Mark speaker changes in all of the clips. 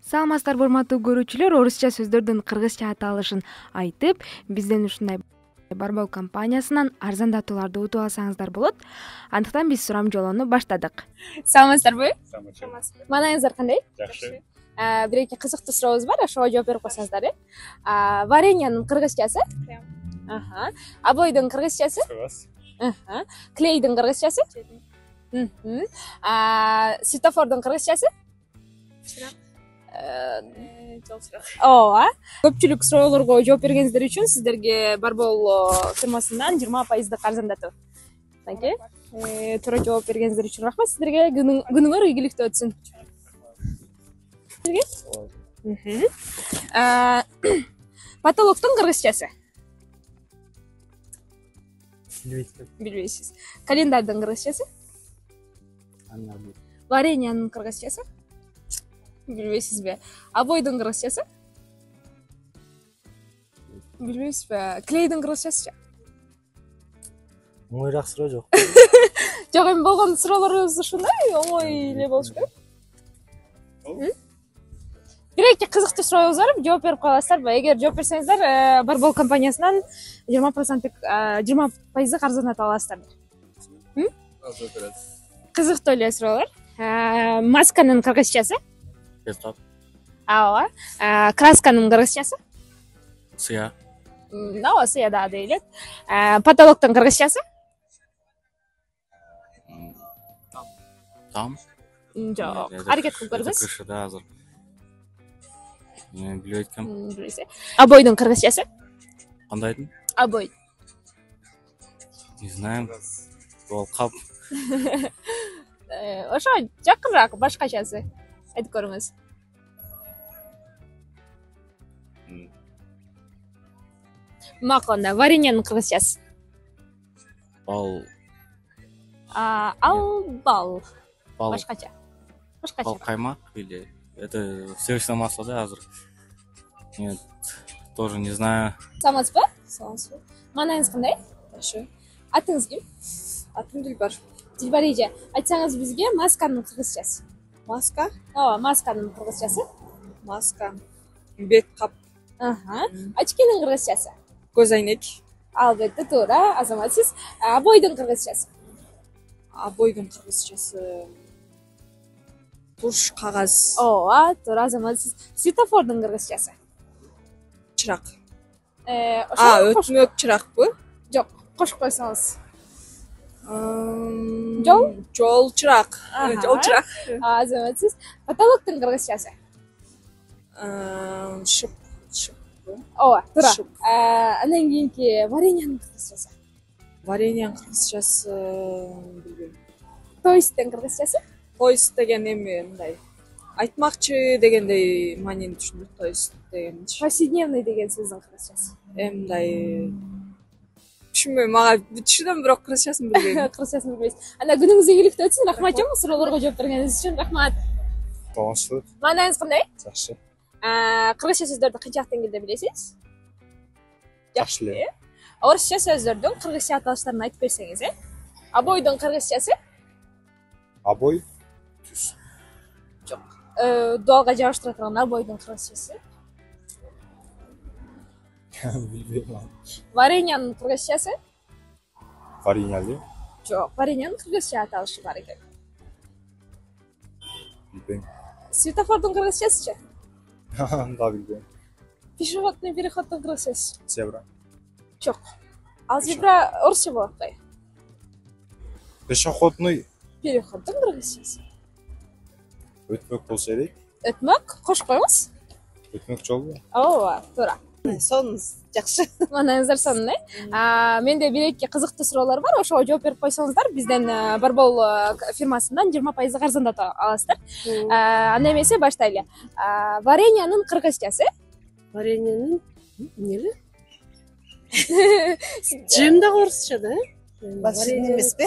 Speaker 1: Саламатсыздарбы урматтуу көрүүчүлөр, орусча сөздөрдүн кыргызча аталышын айтып, бизден ушундай Барбол компаниясынан арзандатууларды утуп алсаңыздар болот. Андыктан биз сурам жолоону баштадык.
Speaker 2: Саламатсыздарбы?
Speaker 3: Саламатчылык.
Speaker 2: Маанайыңыздар кандай?
Speaker 3: Жакшы.
Speaker 2: Бир-эки кызыктуу сурообуз бар, ошого жооп берип койсоңуздар. Вареньянын кыргызчасы? Обойдун кыргызчасы?
Speaker 3: Кагаз.
Speaker 2: Клейдин кыргызчасы? Светофордун кыргызчасы?
Speaker 3: Чырак. Жол чырак.
Speaker 2: Ооба. Көпчүлүк суроолорго жооп бергениңиздер үчүн сиздерге Барбол фирмасынан 20% арзандатуу. Мынакей. Туура жооп бергениңиздер үчүн рахмат сиздерге. Күнүңөр ийгиликтүү өтсүн. Потолоктун кыргызчасы? Билбейсиз. Календардын кыргызчасы? Вареньянын кыргызчасы? Билбейсизби? Обойдун кыргызчасы? Билбейсизби? Клейдин кыргызчасы?
Speaker 4: Оңойраак суроо жок.
Speaker 2: Жок, эми болгон суроолорубуз ушундай, оңой эле болуш керек. Бир-эки кызыктуу сурообуз бар, жооп берип кое аласыздарбы? Эгер жооп берсеңиздер, Барбол компаниясынан 20% арзандатып аласыздар. Кызыктуу эле суроолор. Масканын кыргызчасы?
Speaker 4: Пескап.
Speaker 2: Ооба. Красканын кыргызчасы?
Speaker 4: Сыя.
Speaker 2: Ооба, сыя да дейли. Потолоктун кыргызчасы?
Speaker 4: Там.
Speaker 2: Жок. Аракет кылып көрүңүз.
Speaker 4: Крышада азыр. Мен билбей эткем.
Speaker 2: Обойдун кыргызчасы?
Speaker 4: Кандайдын?
Speaker 2: Обой.
Speaker 4: Не знаю. Ол кап.
Speaker 2: Ошо жакыныраак, башкачасы. Айтып көрүңүз. Маконда вареньянын кыргызчасы?
Speaker 4: Бал.
Speaker 2: Ал бал.
Speaker 4: Бал.
Speaker 2: Башкача.
Speaker 4: Бал каймак или это сливочное масло, да, азыр? Нет, тоже не знаю.
Speaker 2: Саламатсызбы?
Speaker 3: Саламатсызбы.
Speaker 2: Маанайыңыз кандай?
Speaker 3: Жакшы.
Speaker 2: Атыңыз ким?
Speaker 3: Атым Дилбар.
Speaker 2: Дилбар эже, айтсаңыз бизге масканын кыргызчасы.
Speaker 3: Маска?
Speaker 2: Ооба, масканын кыргызчасы.
Speaker 3: Маска. Бет кап.
Speaker 2: Очкинин кыргызчасы.
Speaker 3: Көз айнек.
Speaker 2: Албетте туура, азаматсыз. Обойдун кыргызчасы.
Speaker 3: Обойдун кыргызчасы. Туш кагаз.
Speaker 2: Ооба, туура, азаматсыз. Светофордун кыргызчасы.
Speaker 3: Чырак.
Speaker 2: Өтмөк
Speaker 3: чыракпы?
Speaker 2: Жок, кошуп койсоңуз.
Speaker 3: Жол чырак. Жол чырак.
Speaker 2: Азаматсыз. Потолоктун кыргызчасы.
Speaker 3: Шып.
Speaker 2: Ооба, туура. Андан кийинки вареньянын кыргызчасы.
Speaker 3: Вареньянын кыргызчасы билбейм.
Speaker 2: Тоисттин кыргызчасы?
Speaker 3: Тоист деген эми мындай айтмакчы дегендей маанини түшүндүр. Тоист дегенчи.
Speaker 2: Повседневный деген сөздүн кыргызчасы.
Speaker 3: Мындай түшүнбөйм, мага түшүнөм, бирок кыргызчасын билбейм.
Speaker 2: Кыргызчасын билбейсиз. Анда күнүңүз ийгиликтүү өтсүн. Рахмат чоң суроолорго жооп бергениңиз үчүн. Рахмат.
Speaker 4: Саламатчылык.
Speaker 2: Маанайыңыз кандай?
Speaker 4: Жакшы.
Speaker 2: Кыргызча сөздөрдү канчалык деңгээлде билесиз?
Speaker 4: Жакшы эле.
Speaker 2: Орусча сөздөрдүн кыргызча аталыштарын айтып берсеңиз, Обойдун кыргызчасы?
Speaker 4: Обой. Түз.
Speaker 2: Жок. Дуалга жабыштыра турган обойдун кыргызчасы?
Speaker 4: Билбейм.
Speaker 2: Вареньянын кыргызчасы?
Speaker 4: Вареньяли.
Speaker 2: Жок, вареньянын кыргызча аталышы бар экен.
Speaker 4: Билбейм.
Speaker 2: Светофордун кыргызчасычы?
Speaker 4: Да, билбейм.
Speaker 2: Пешеходный переходдун кыргызчасы?
Speaker 4: Зебра.
Speaker 2: Жок. Ал зебра орусча болот го.
Speaker 4: Пешеходный.
Speaker 2: Переходдун кыргызчасы.
Speaker 4: Өтмөк болсо элек.
Speaker 2: Өтмөк, кошуп коюңуз.
Speaker 4: Өтмөк жолбу?
Speaker 2: Ооба, туура.
Speaker 3: Сонуңуз жакшы.
Speaker 2: Маанайыңыздар сонун, Менде бир-эки кызыктуу суроолор бар, ошого жооп берип койсоңуздар, бизден Барбол фирмасынан 20% арзандатып аласыздар. Анда эмесе баштайлы. Вареньянын кыргызчасы?
Speaker 5: Вареньянын эмнеби? Жем да орусча да?
Speaker 3: Варенья эмеспи?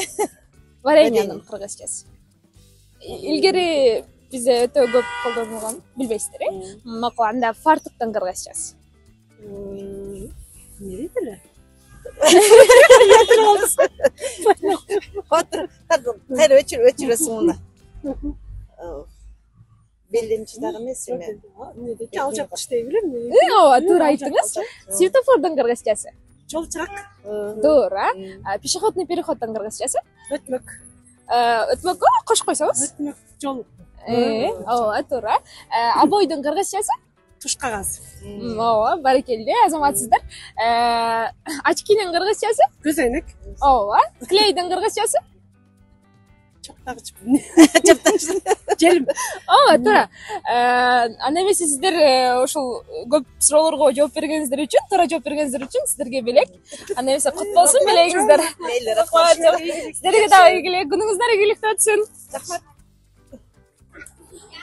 Speaker 2: Вареньянын кыргызчасы. Илгери бизде өтө көп колдонулган, билбейсиздер, Макул, анда фартуктун кыргызчасы.
Speaker 5: Не дейт эле?
Speaker 3: Кайра өчүрөсүң муну.
Speaker 6: белдемчи дагы эмеси эми.
Speaker 5: Эмнедеки ал жакта иштей берем.
Speaker 2: ооба туура айттыңыз. Светофордун кыргызчасы.
Speaker 5: Жол чырак.
Speaker 2: Туура. Пешеходный переходдун кыргызчасы.
Speaker 5: Өтмөк.
Speaker 2: Өтмөккө кошуп койсоңуз.
Speaker 5: Өтмөк жол.
Speaker 2: Ооба туура. Обойдун кыргызчасы.
Speaker 5: Туш кагаз.
Speaker 2: Ооба, баракелде, азаматсыздар. Очкинин кыргызчасы.
Speaker 5: Көз айнек.
Speaker 2: Ооба. Клейдин кыргызчасы.
Speaker 5: Чаптагыч.
Speaker 2: Желим. Ооба, туура. Анда эмесе сиздер ушул көп суроолорго жооп бергениңиздер үчүн, туура жооп бергениңиздер үчүн сиздерге белек. Анда эмесе кут болсун белегиңиздер.
Speaker 6: Мейли, рахмат.
Speaker 2: Сиздерге дагы ийгилик, күнүңүздөр ийгиликтүү өтсүн. Рахмат.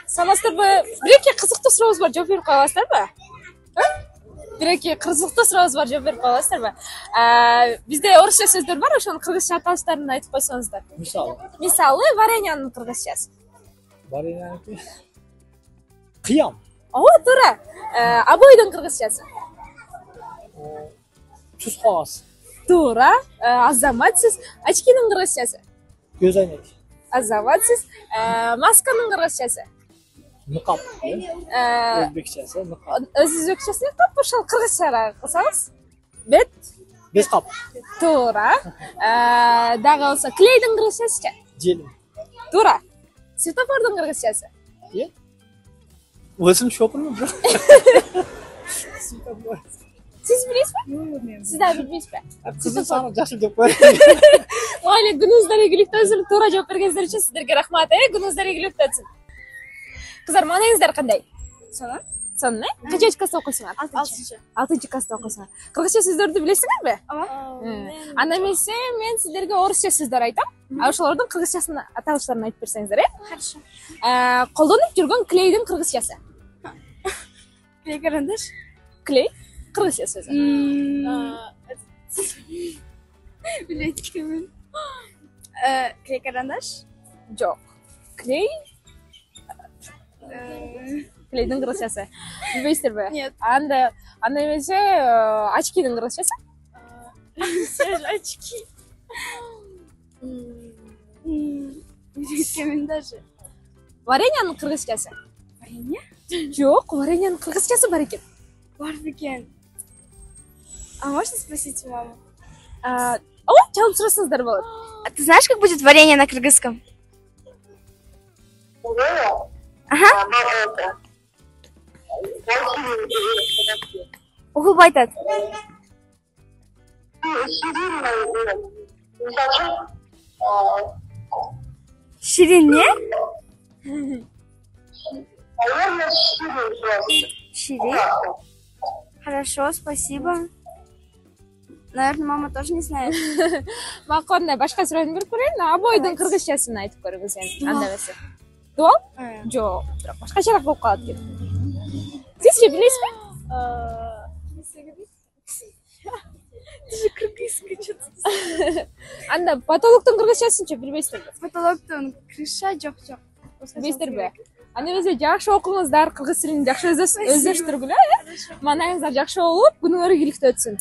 Speaker 2: Саламатсыздарбы? Бир-эки кызыктуу сурообуз бар, жооп берип кое аласыздарбы? Бир-эки кызыктуу сурообуз бар, жооп берип кое аласыздарбы? Бизде орусча сөздөр бар, ошонун кыргызча аталыштарын айтып койсоңуздар. Мисалы, вареньянын кыргызчасы.
Speaker 7: Вареньяники. Кыям.
Speaker 2: Ооба, туура. Обойдун кыргызчасы.
Speaker 7: Туз кагаз.
Speaker 2: Туура. Азаматсыз. Очкинин кыргызчасы.
Speaker 7: Көз айнек.
Speaker 2: Азаматсыз. Масканын кыргызчасы.
Speaker 7: Ныкап. Өзбекчеси ныкап.
Speaker 2: Өзбекчеси ныкап, ошол кыргызча кылсаңыз. Бет.
Speaker 7: Бес кап.
Speaker 2: Туура. Дагы болсо клейдин кыргызчасычы?
Speaker 7: Желим.
Speaker 2: Туура. Светофордун кыргызчасы.
Speaker 7: Өзүм шопурмун бирок.
Speaker 2: Сиз билесизби? Сиз дагы билбейсизби?
Speaker 7: Кызым саны жашыл деп коет.
Speaker 2: Майли, күнүңүздөр ийгиликтүү өтсүн. Туура жооп бергениңиздер үчүн сиздерге рахмат. Күнүңүздөр ийгиликтүү өтсүн. Кыздар, маанайыңыздар кандай? Сонун. Сонун, Канча класста окуйсуңар? 6 класста окуйсуңар. Кыргызча сөздөрдү билесиңерби? Ооба. Анда эмесе мен сиздерге орусча сөздөр айтам. Ошолордун кыргызчасын аталыштарын айтып берсеңиздер,
Speaker 8: Хорошо.
Speaker 2: Колдонуп жүргөн клейдин кыргызчасы.
Speaker 8: Клей карандаш.
Speaker 2: Клей кыргызча сөзү.
Speaker 8: Билетикмин. Клей карандаш.
Speaker 2: Жок. Клей клейдин кыргызчасы. Билбейсиздерби?
Speaker 8: Нет.
Speaker 2: Анда эмесе очкинин кыргызчасы.
Speaker 8: Очки. Билетикмин даже.
Speaker 2: Вареньянын кыргызчасы.
Speaker 8: Варенье?
Speaker 2: Жок, вареньянын кыргызчасы бар экен.
Speaker 8: Бар бекен. А можно спросить у мамы?
Speaker 2: Ооба, чалып сурасаңыздар болот.
Speaker 8: А ты знаешь, как будет варенье на кыргызском? Ага. Угулбай айтат. Ширин не? Ширин? Хорошо, спасибо. Наверное, мама тоже не знает.
Speaker 2: Маконда башка суроону берип көрөйүн. Обойдун кыргызчасын айтып көрүңүз эми. Анда эмесе. Дуал? Жок, бирок башкачараак болуп калат экен. Сизчи билесизби?
Speaker 8: Ты же кыргызский что-то.
Speaker 2: Анда потолоктун кыргызчасынчы билбейсиздерби?
Speaker 8: Потолоктон крыша жок.
Speaker 2: Билбейсиздерби? Анда эмесе жакшы окуңуздар, кыргыз тилин жакшы өздөштүргүлө, Маанайыңыздар жакшы болуп, күнүңөр ийгиликтүү өтсүн.